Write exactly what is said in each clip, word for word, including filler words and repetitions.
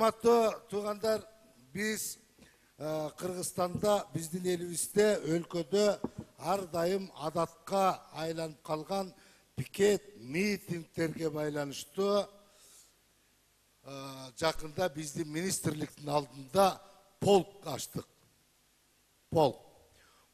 Урматтуу туугандар, биз Кыргызстанда, биздин элибизде, өлкөдө ар дайым адатка айланып калган пикет, митингтерге байланыштуу жакында биздин министрликтин алдында полк ачтык. Полк.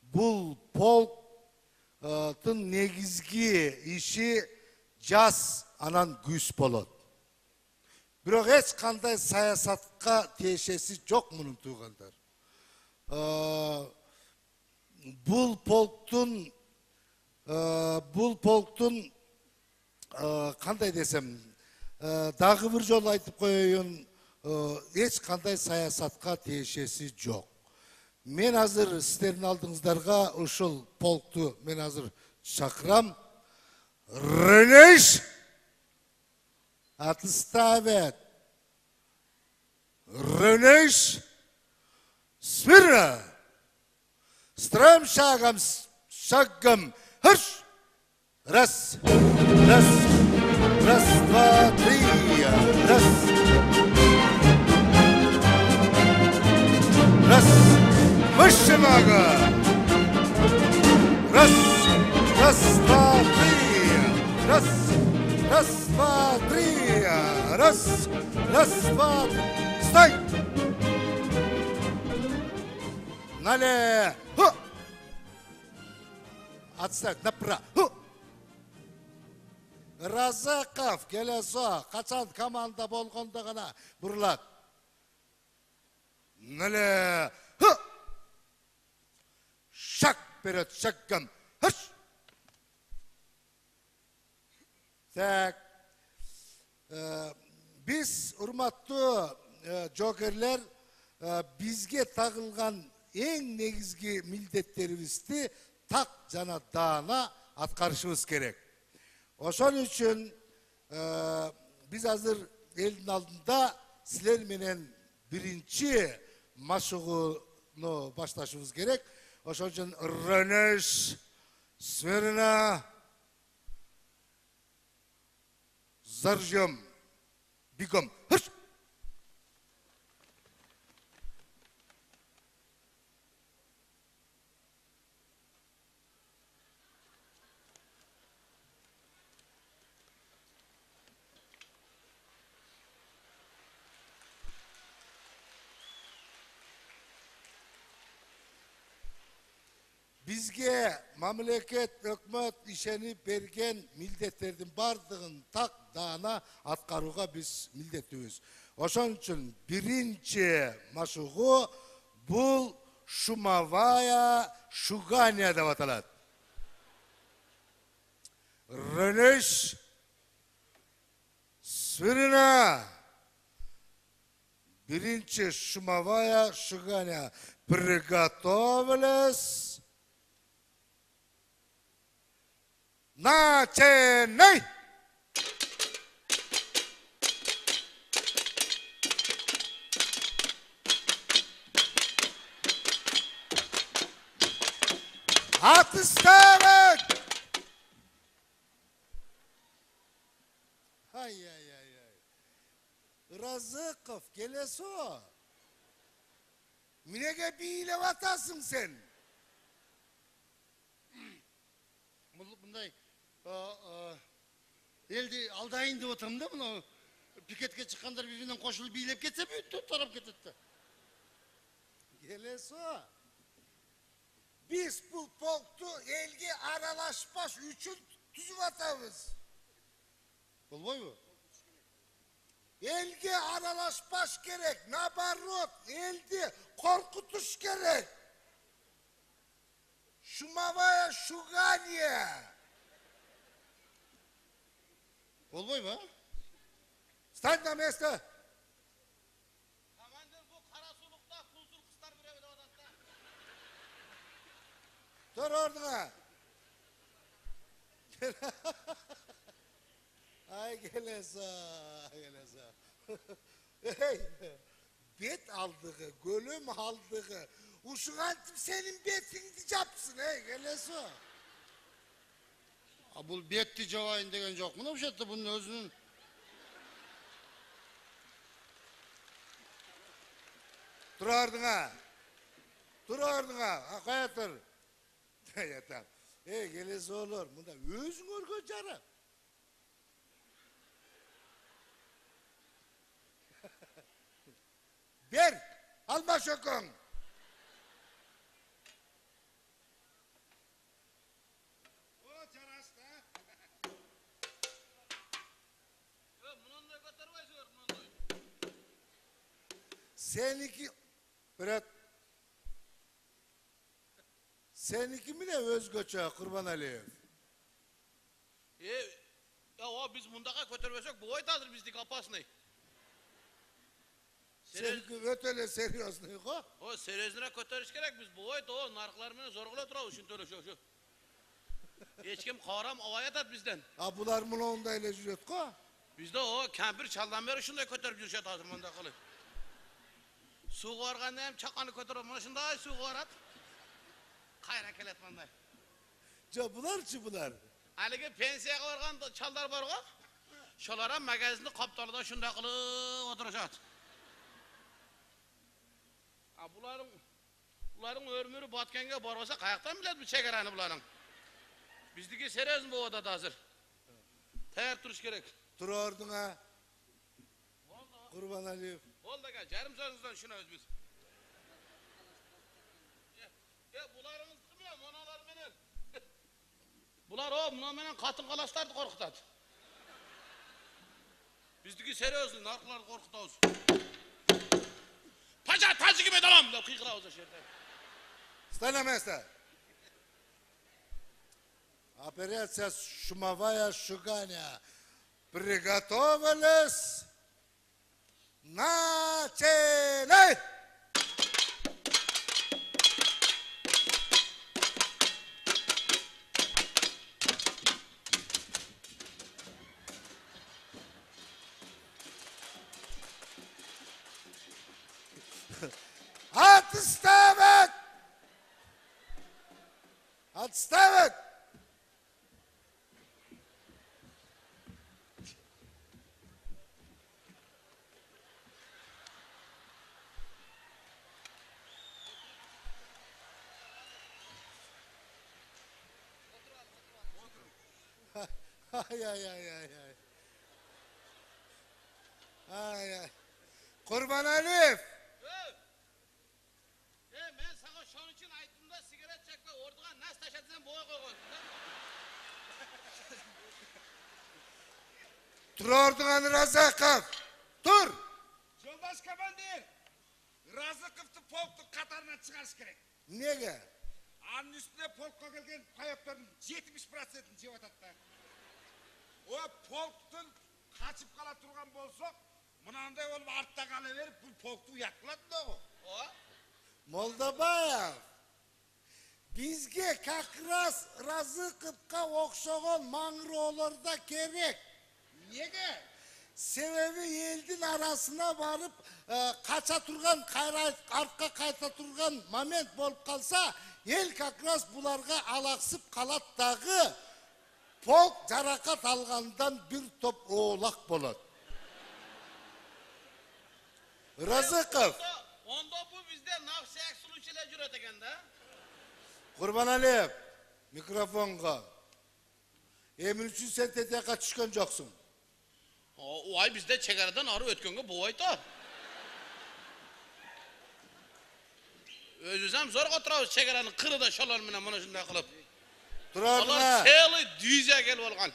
Бул полктун негизги иши жаз анан күз болот. Бирок эч кандай саясатка тиешеси жок мунун туугандар. Бул полктун бул полктун кандай десем, дагы бир жолу айтып коеюн, эч кандай саясатка тиешеси жок. Мен азыр сиздердин алдыңыздарга ушул полкту мен азыр чакырам. Рынеш отставить. Рынеш смирно. Строим шагом, шагом. Хыш! Раз, раз, раз, два, три, раз. Раз, выше нога. Раз, раз, два, три, раз, раз, два, три, раз, раз, два, стой! Налево! Отставить, направо! Разаков, келесо, качан команда болгондо гана бурулат. Налево! Шаг вперед, шагом! Хыш! Так, биз, урматтуу жокерлер, бизге тагылган эң негизги милдеттерибизди так жана даана аткарышыбыз керек. Ошон үчүн биз азыр элдин алдында силер менен биринчи машыгууну башташыбыз керек. Ошон үчүн рынеш, смирно, заржем, бегом. Хыш! Бизге мамлекет, өкмөт ишенип берген милдеттердин бардыгын так даана аткарууга биз милдеттүүбүз. Ошон үчүн биринчи машыгуу бул шумовая шугания деп аталат. Рынеш, смирно. Биринчи шумовая шугания. Приготовились. Начинай! Отставить! Ай-яй-яй-яй. Разыков, келесо. Минеге бийлеп атасың сен. Мындай элди алдайын деп отурум да, мына пикетке чыккандар бири-биринен кошулуп бийлеп кетсе бүт тарап кетет да. Келесо. Биз бул полкту элге аралашпаш үчүн түзүп атабыз. Болбойбу? Элге аралашпаш керек, наоборот, элди коркутуш керек. Шумовая шугания. Болбойбу, а? Стань на место. Командир, бу кара сулукта пулсуз кыздар бирөө деп атат да. Тур ордуңа. Ай, келесо, келесо. Эй, бет алдыгы, көлөм алдыгы. Ушугантип сенин бетиңди жапсын, эй, келесо. А бул бетти жабайын деген жок. Мына ушул жерде бунун өзүнүн Тұра ордыңа. Тұра ордыңа. Қоя тұр. Ей, келесі олар. Мұнда өзің өргөн жара. Бер, алма шөкөң. Seniki, Berat, seniki mi ne özgöçe Kurban Aliyev? E, ya o biz mundaka götürmesek bu oydadır bizdik apasını. Seniki ötele seriyorsun o? O serezine götürüş gerek biz bu oyda o narklarımını zorgula duralım şimdi öyle şu şu. Hiç kim karam avaya da bizden. Ha bular mı onda ile jüret ko? Bizde o kempir çaldan beri şunday götürüp yürüşet hazır mundakalı. Su varganda hem çakanı götürüp mana şunday su varat. Kayra kelet manday. Ja bular çı bular? Haligi pensiyaga borgan challar bor go. Şolar ham magazinni qoptalida shunday qilib o'tirishadi. Ha bularning bularning o'rmiri botganga bormasa qayoqdan biladi bu chegarani bularning? Bizdiki serezmi bu odada hozir. Tayyor turish kerak. Tura ordunga. Kurban Aliyev. Bo'ldi aka, jarim so'zingizdan shuni o'zimiz. Ya bularimiz kimlar? Monalar menen. Bular o, buna menen qatın qalaslarni qo'rqitadi. Bizdiki seriozli narxlarni qo'rqitamiz. Paja tajiki medalam deb qiyqiramiz o'sha yerda. Стой на место. Операция «Шумовая шугания». Приготовились. Начали! Отставить! Отставить! Ay ay ay ay ay. Ay ay. Kurban Aliyev. E men sana şunun için aytdımda sigaret çekme orduga nas taşatsam boya koygon. Tur ordunganı Razakov. Tur. Жолдаш командир, Разыковду полктун катарына чыгарыш керек. Неге? Анын үстүнө полкко келген паёктардын жетимиш процентин жеп атат да. О полктун качып кала турган болсок, мынандай болуп артта кала берип, бул полкту уят кылат да го. O? Молдобаев. Bizge как раз Razıkovga okşoğun mangıroğlar da gerek. Неге? Sebebi eldin arasına varıp e, kaça turgan, kayra, arka kayta turgan moment bolup kalsa el kakras bularga alaksıp kalat dağı polk jarakat algandan bir top oğlak bolat. Razıkov. Onda bu bizde nafsiyak suluçuyla cüret eken da. Kurban Aliyev, mikrofonga. Emin üçün sen teteka düşkön joksun. O ay bizde çekaradan arı ötkönge bu ayta. Özüzem zor oturabız çekaranın kırıda şolar menen mana şunday kılıp. Turardına. Onlar seyli düzeye gelip olgan.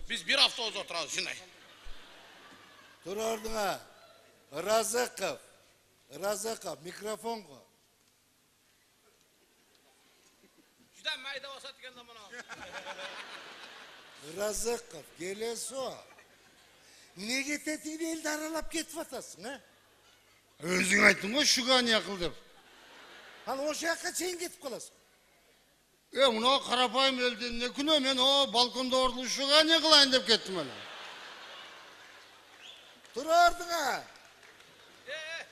Biz bir hafta oz oturabız şunday. Turardına. Razıkov. Razıkov, mikrofonga. Juda mayda basat degende mana. Razıkov, gelesi o. Nege tetini eldi aralap ketip atasın, ha? Өзүң айттың го шугания кыл деп. Hani o şaka sen ketip kalasın. Э, мына карапайым элдин эмне күнөө мен о балкондо ордулуп шугания кылайын деп кеттим эле. Turardına. E, e,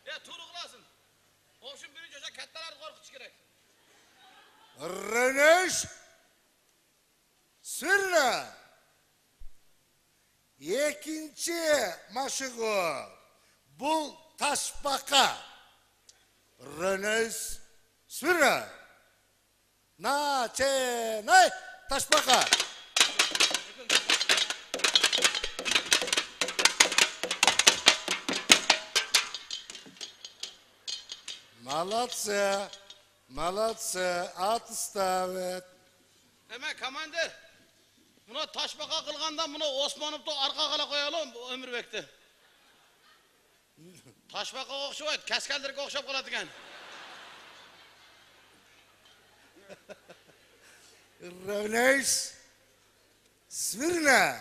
e turu kılasın. Oşun birinci hoca kattalar korkutuş gerek. Rönüş. Sırla. İkinci maşığı. Bu taşbaka. Рönöys Свира. Начинай. Ташбака. Молодцы. Молодцы. Отставить. Demek komandir, buna taşbaka kılganda buna Osmanov'da arka kala koyalım Ömürbek'te. Taşbaka okşayıp, keskeldirge okşap kaladigan. Rönöys Svirna.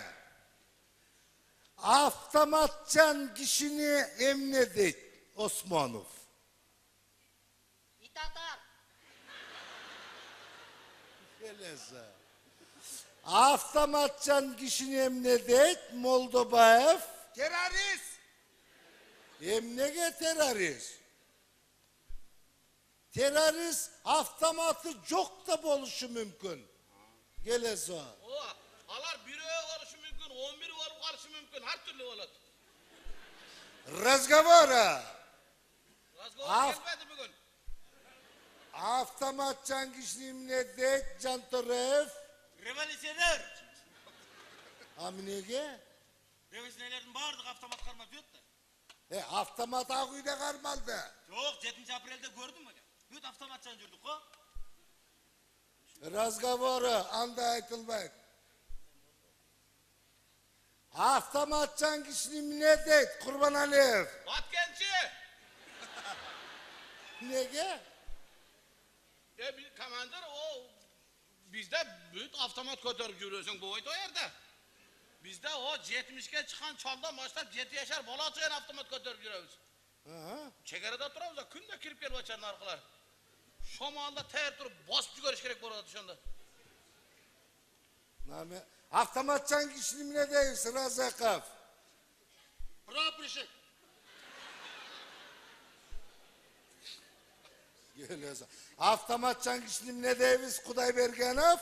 Avtomatçan kişini emnedek Osmanov. İtatar. Geleza. Avtomatçan kişini emnedek Moldobaev. Terörist. Emnege terörist. Terörist avtomatı çok da boluşu mümkün. Geleza. O, alar biri oluşu mümkün, on biri olup kalışı mümkün, her türlü olur. Разговора. Razgovor Af- gelmedi bugün. Avtomatçan kişini emnedek Cantorev. Revolüsyoner. Aminege. Revolüsyonerlerin bağırdık avtomat karma diyordu. E avtomat ağıyda karmaldı. Yok yedinci aprelde gördün mü? Büyük avtomatçan yürüdük o. Разговоры anda aytılmayt. Avtomatçan kişini emnedek Kurbanaliyev. Batkençi. Nege? E bir komandir o bizde büyük avtomat götürüp yürüyorsun bu oyda o yerde. Bizde o yetmişe çıkan çaldan başlayıp yedi yaşar bola atlayan avtomat götürüp yürüyoruz. Aha. Çekerede oturamız da günde kirip gelip açanın arkalar. Şu anda ter durup basıp çıkarış gerek bu arada dışında. Name. Avtomatçan kişini emnedek Razakov. Прапорщик. Geleza. Avtomatçan kişini emnedek Kudaybergenov.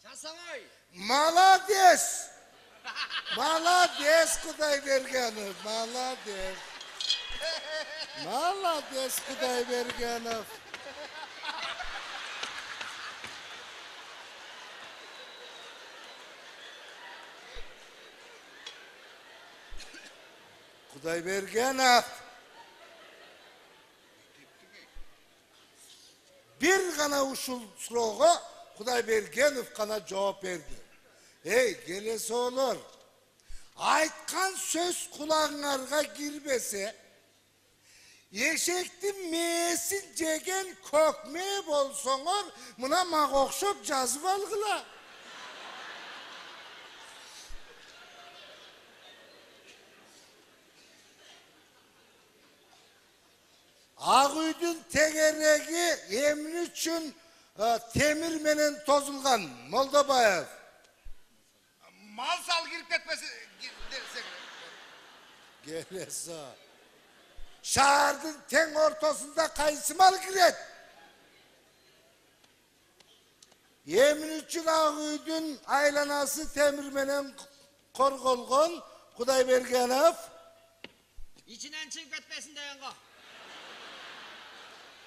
Çasamay. Молодец! Молодец, Кудайбергенов, молодец. Молодец, Кудайбергенов. Kudaybergenov. Bir gana uşul soruğa Kudaybergenov gana cevap verdi. Hey gelesi olur. Aytkan söz kulağınlarga girmese, eşektin meyesin jegen kökme bolsoңор, mına mağokşop жазып algıla. Ağüydün tegeregi emin üçün e, temir menen tozulgan Moldobaev. Mal sal girip ketmesi dersek. Gelesa. Şahardın ten ortasında kaysı mal giret. Yemin üçün Ağüydün aylanası temir menen korgolgon Kudaybergenov. İçinden çıkıp etmesin de yanga.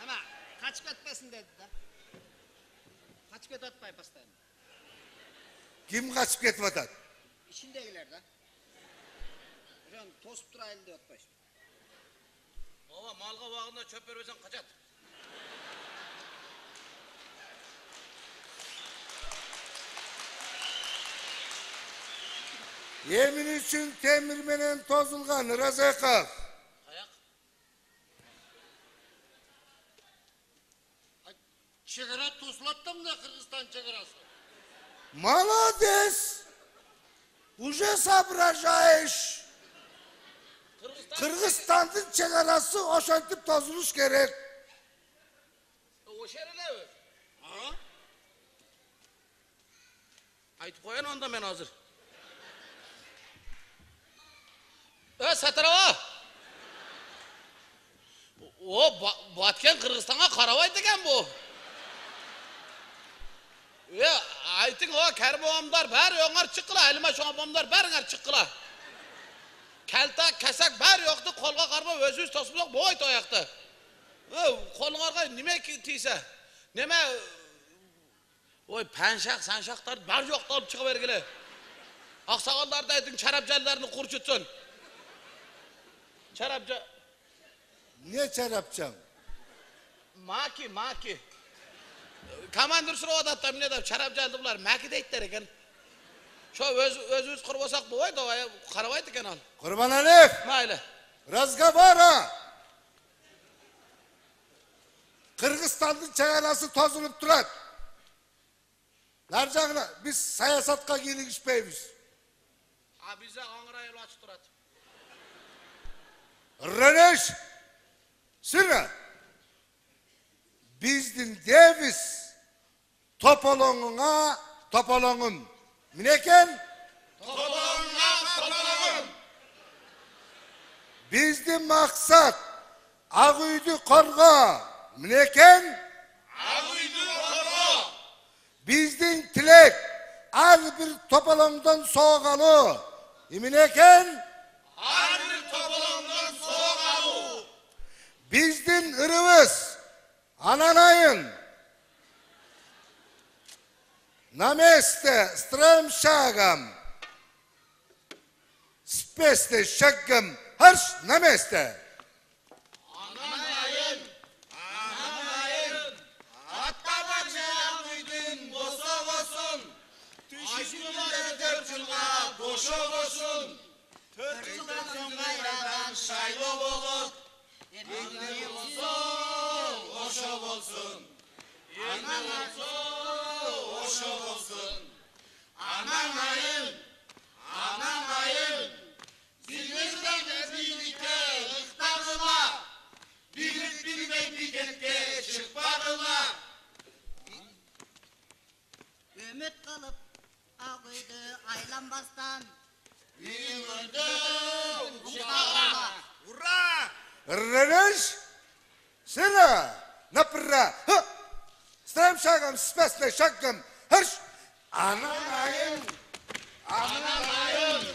Ama kaçıp etmesin dedi de. Kaçıp et atmayı pastayım. Kim kaçıp ketip atat? İçindekiler de. Hocam tosup dura elde atmayı. Baba malga bağında çöp vermesen kaçat. Yemin üçün temir menen tozulgan Razakov. Ayak. Çegara tuzlattı mı da Kırgızistan çegarası? Молодец! Уже соображаешь. Kırgızistan. Kırgızstan'ın çegarası oşantıp tozuluş gerek. O şehre ne mi? Ha? Aytıp koyan onda ben hazır. E Satarava. O ba Batken Kırgızistan'a karavay degen bu. E aytın o kerbomamlar bari yonar çıkkıla, elime şu abamlar bari çıkkıla. Keltak, kesak bari yoktu, kolga karma özüz tosum yok, bu oytu ayaktı. Kolunlarga nime tiyse, neme oy penşak sanşaklar bar yok da çıkıp vergile. Aksakallar da edin çarapcanlarını kurçutsun. Çarapca... Ne çarapcan? Maki, maki. Kamandır sıra odatta ne de çarapcanlılar maki deyitler eken. Şu öz özümüz kurbasak bu oydu, karabaydı eken al. Kurban Alif. Mayle. Razgabara. Kırgızistan'ın çayalası tozulup durat. Narjağına biz sayasatka gelişmeyimiz. Ha bize Ankara yolu açık durat. Röneş. Sırra. Bizdin deviz topolonuna topolonun. Mineken? Topolonuna topolonun. Bizdin maksat Ağüydü korga. Mineken? Ağüydü korga. Bizdin tilek her bir topolondan soğalı. Mineken? Her bir topolondan soğalı. Bizdin ırıvız ananayın. Nameste strem şagam. Speste şaggam harş nameste. Ananayın, ananayın, hatta başa uydun bosa bosun, düşkünleri dört yılga boşa boşun, dört yıldan sonra şaylo bolup, Emin olsun, hoşa olsun, emin olsun, hoşa olsun, ananayın, ananayın, Bilmekle birlikte ıhtarıma, bilip bilmek birlikte çıkmadıma. Ümit kılıp ağıydı aylanbastan. Bir öldüm çıkmadıma. Ура! Röneş. Sıra. Napırra. Hı. Strem şagam speste şaggam harş. Ananayın. Ananayın,